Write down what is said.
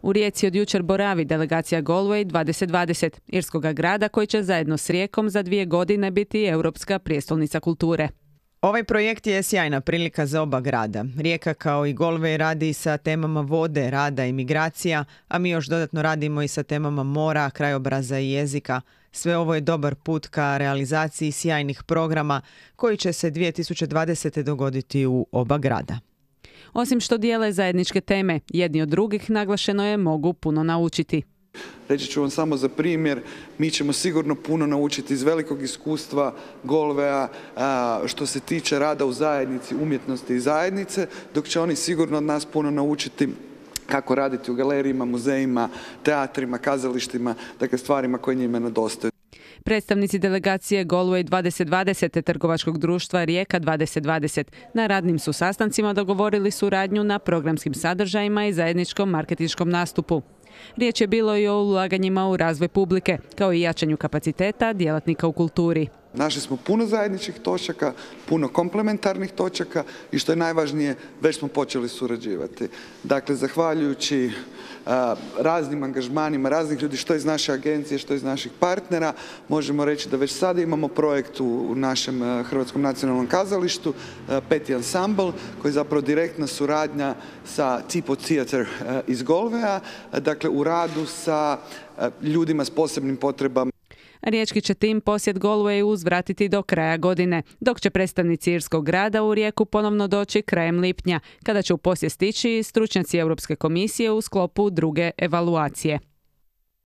U Rijeci od jučer boravi delegacija Galway 2020, irskoga grada koji će zajedno s Rijekom za 2 godine biti europska prijestolnica kulture. Ovaj projekt je sjajna prilika za oba grada. Rijeka kao i Galway radi sa temama vode, rada i migracija, a mi još dodatno radimo i sa temama mora, krajobraza i jezika. Sve ovo je dobar put ka realizaciji sjajnih programa koji će se 2020. dogoditi u oba grada. Osim što dijele zajedničke teme, jedni od drugih naglašeno je mogu puno naučiti. Reći ću vam samo za primjer, mi ćemo sigurno puno naučiti iz velikog iskustva Galwaya što se tiče rada u zajednici, umjetnosti i zajednice, dok će oni sigurno od nas puno naučiti kako raditi u galerijima, muzejima, teatrima, kazalištima, dakle stvarima koje njima nedostaju. Predstavnici delegacije Galway 2020 te trgovačkog društva Rijeka 2020 na radnim su sastancima dogovorili suradnju na programskim sadržajima i zajedničkom marketinškom nastupu. Riječ je bilo i o ulaganjima u razvoj publike, kao i jačanju kapaciteta djelatnika u kulturi. Našli smo puno zajedničkih točaka, puno komplementarnih točaka i što je najvažnije, već smo počeli surađivati. Dakle, zahvaljujući raznim angažmanima, raznih ljudi, što iz naše agencije, što iz naših partnera, možemo reći da već sada imamo projekt u našem Hrvatskom nacionalnom kazalištu, Peti ansambl, koji je zapravo direktna suradnja sa Tipo Theater iz Galwaya, dakle u radu sa ljudima s posebnim potrebama. Riječki će tim posjet Galwayu uzvratiti do kraja godine, dok će predstavnici irskog grada u Rijeku ponovno doći krajem lipnja, kada će u posjet stići stručnjaci Europske komisije u sklopu druge evaluacije.